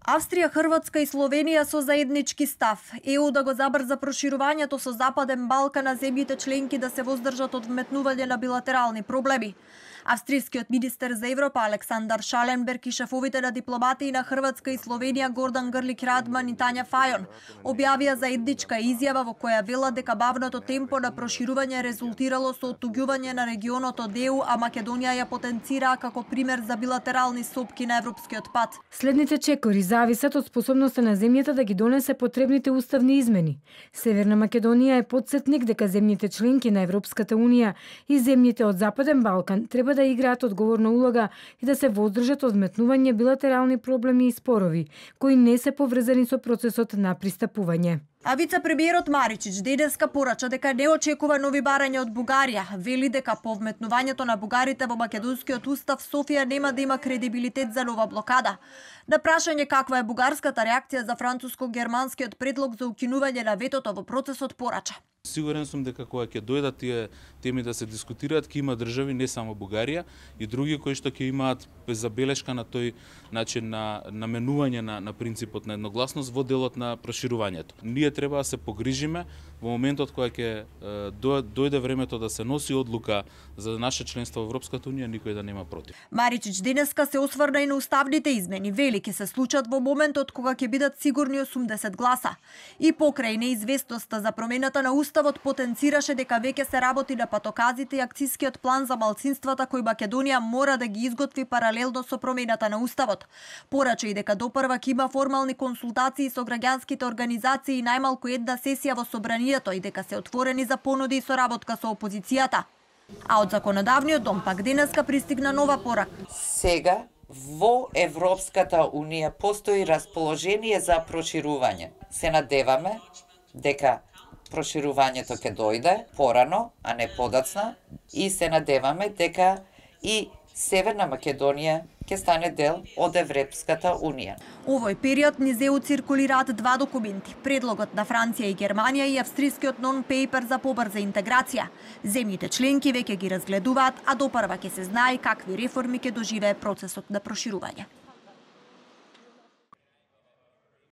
Австрија, Хрватска и Словенија со заеднички став. ЕУ да го забрза проширувањето со Западен Балкан, а земјите членки да се воздржат од вметнување на билатерални проблеми. Австријскиот министер за Европа Александар Шаленберг и шефовите на дипломатии на Хрватска и Словенија Гордан Грлик Радман и Тања Фајон објавија заедничка изјава во која велат дека бавното темпо на проширување резултирало со оттуѓување на регионот од ЕУ, а Македонија ја потенцираа како пример за билатерални сопки на европскиот пат. Следните чекори зависат од способноста на земјата да ги донесе потребните уставни измени. Северна Македонија е потсетник дека земјите членки на Европската Унија и земјите од Западен Балкан треба да играат одговорна улога и да се воздржат од вметнување билатерални проблеми и спорови, кои не се поврзани со процесот на пристапување. А вице-премиерот Маричич денеска порача дека не очекува нови барања од Бугарија. Вели дека по вметнувањето на бугарите во македонскиот устав Софија нема да има кредибилитет за нова блокада. На прашање каква е бугарската реакција за француско-германскиот предлог за укинување на ветото во процесот порача: Сигурен сум дека кога ќе дојдат тие теми да се дискутираат, ќе има држави, не само Бугарија, и други кои што ќе имаат забелешка на тој начин на наменување на принципот на едногласност во делот на проширувањето. Ние треба да се погрижиме во моментот кога ќе дојде времето да се носи одлука за наше членство во Европската Унија, никој да нема против. Маричич денеска се осврна и на уставните измени. Вели ќе се случат во моментот кога ќе бидат сигурни 80 гласа. И покрај неизвестноста за промената на уставот потенцираше дека веќе се работи на патоказите и акцискиот план за малцинствата кој Македонија мора да ги изготви паралелно со промената на уставот. Порача и дека допрвак има формални консултации со граѓанските организации и најмалку една сесија во собранието и дека се отворени за понуди и соработка со опозицијата. А од законодавниот дом пак денеска пристигна нова порака. Сега во Европската Унија постои расположение за проширување. Се надеваме дека проширувањето ќе дојде порано, а не подоцна, и се надеваме дека и Северна Македонија ќе стане дел од Европската Унија. Овој период низ ЕУ циркулираат два документи: предлогот на Франција и Германија и австрискиот нон-пейпер за побрза интеграција. Земјите членки веќе ги разгледуваат, а допрва ќе се знае какви реформи ќе доживее процесот на проширување.